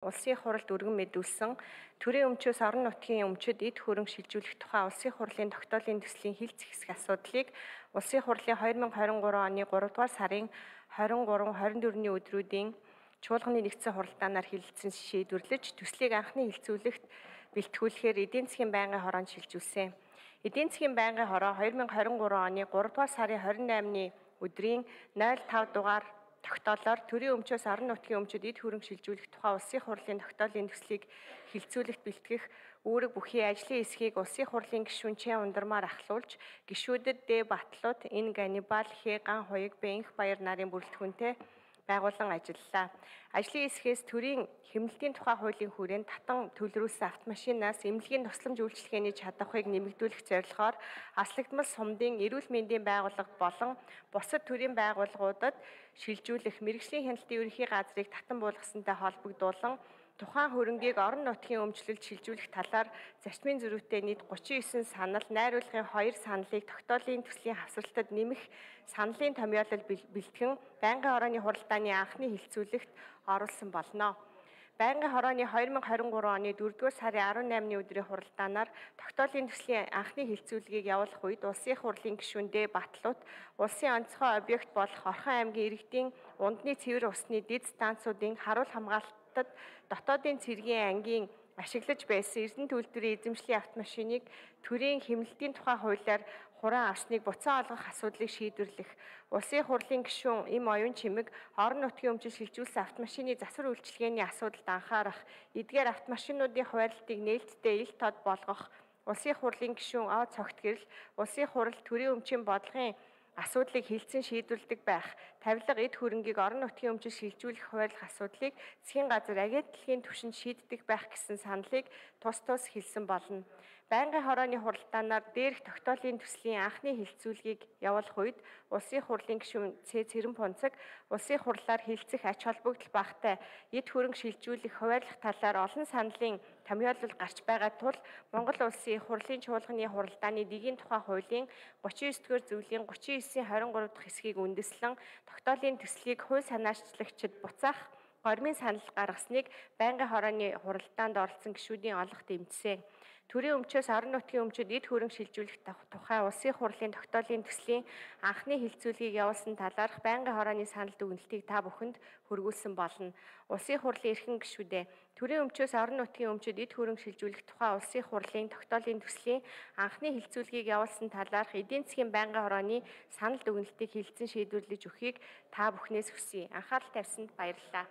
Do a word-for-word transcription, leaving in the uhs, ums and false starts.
Улсын хуралд өргөн мэдүүлсэн төрийн өмчөөс орон нутгийн өмчөд эд хөрөнгө шилжүүлэх тухай улсын хурлын тогтоолын төслийн хилц хэсэг асуудлыг улсын хурлын хоёр мянга хорин гурван оны гурав дугаар сарын хорин гурав хорин дөрөвний өдрүүдийн чуулганы нэгдсэн хуралдаанаар хилцэн шийдвэрлэж төслийг анхны хилцүүлэгт бэлтгүүлэхээр эдийн засгийн байнгын хороонд шилжүүлсэн. Эдийн засгийн байнгын хороо хоёр мянга хорин гурван оны гурав дугаар сарын хорин наймны өдрийн нойл тав дугаар тогтоолоор төрийн өмчөөс орон нутгийн өмчөд эд хөрөнгө шилжүүлэх тухай улсын хурлын тогтоолын төслийг хилцүүлэгт бэлтгэх үүрэг бүхий ажлын хэсгийг улсын хурлын гишүүн Чэ Ундармаар ахлуулж, гишүүдэд Дэ Батлууд, Ин Ганнибал, Хэ Ган Хуйг, Бэнх Баяр нарын бүрэлдэхүүнтэй байгуулан ажиллалаа. Ажлын хэсгээс төрийн хэмнэлтийн тухай хуулийн хүрээнд татан төлрүүлсэн автомашинаас эмнэлгийн тусламж үйлчилгээний чадварыг нэмэгдүүлэх зорилгоор аслагдмал сумдын эрүүл мэндийн байгууллага болон бусад төрийн байгууллагуудад шилжүүлэх мэргэжлийн хяналтын ерөнхий газрыг татан буулгасантай холбогдуулан тухайн хөрөнгийг орон нутгийн өмчлөлд шилжүүлэх талаар зарчмын зөрүүтэй нийт гучин девять санал, найруулгын хоёр саналыг тогтоолын төслийн хавсралтад нэмэх саналын томьёолол бэлтгэн байнгын хорооны хуралдааны анхны хилцүүлэгт оруулсан болно. Байнгын хорооны хоёр мянга хорин гурван оны дөрөвдүгээр сарын арван наймны өдрийн хуралдаанаар тогтоолын төслийн анхны хилцүүлгийг явуулах үед улсын хурлын гишүүн Дэ Батлууд улсын онцгой объект болох Орхон аймгийн иргэдийн унтны цэвэр усны дэд станцуудын харуул хамгаалалтад дотоодын цэргийн ангийн ашиглаж байсан Эрдэнэ төлөвлөрийн эзэмшлийн автомашиныг төрийн хэмнэлтийн тухай хуулиар хураан авсныг буцаан олгох асуудлыг шийдвэрлэх, улсын хурлын гишүүн Им Оюун Чимэг орон нутгийн өмчөд шилжүүлсэн автомашины засвар үйлчилгээний асуудалд анхаарах, эдгээр автомашинуудын хуваарлтыг нээлттэй ил тод болгох, улсын хурлын гишүүн О Цогт гэрэл улсын хурал төрийн өмчийн бодлогын асуудлыг хилцэн шийдвэрлэдэг байх, тавилга эд хөрөнгийг орон нутгийн өмчөд шилжүүлэх хуваарлах асуудлыг засгийн газар агентлагийн түвшинд шийддэг байх гэсэн саналыг тус тус хэлсэн болно. Байнгын хорооны хуралдаанаар дээрх тогтоолын төслийн анхны хилцүүлгийг явуулах үед улсын хурлын гишүүн Цэ Цэрэн Пунцаг улсын хурлаар хилцэх ач холбогдол багтай эд хөрөнгө шилжүүлэх хуваарлах талаар олон саналын томьёолол гарч байгаа тул Монгол улсын хурлын чуулганы хуралдааны дэгийн тухай хуулийн гучин девять дугаар зөвлийн гучин девять хорин гурав дахь хэсгийг үндэслэн тогтоолын төслийг хууль санаачлагчид буцаах гормын санал гаргасныг байнгын хорооны хуралдаанд оролцсон гишүүдийн олох дэмжсэн. Төрийн өмчөөс орон нутгийн өмчөд эд хөрөнгө шилжүүлэх тухай улсын хурлын тогтоолын төслийн анхны хилцүүлгийг явуулсан талаарх байнгын хорооны санал дүгнэлтийг та бүхэнд хүргүүлсэн болно. Улсын хурлын эрхэм гишүүдээ төрийн өмчөөс орон нутгийн өмчөд эд хөрөнгө шилжүүлэх тухай улсын хурлын тогтоолын төслийн анхны хилцүүлгийг явуулсан талаарх эдийн засгийн байнгын хорооны санал дүгнэлтийг хилцэн шийдвэрлэж өгөхийг та бүхнээс хүсье. Анхаарал тавьсанд баярлалаа.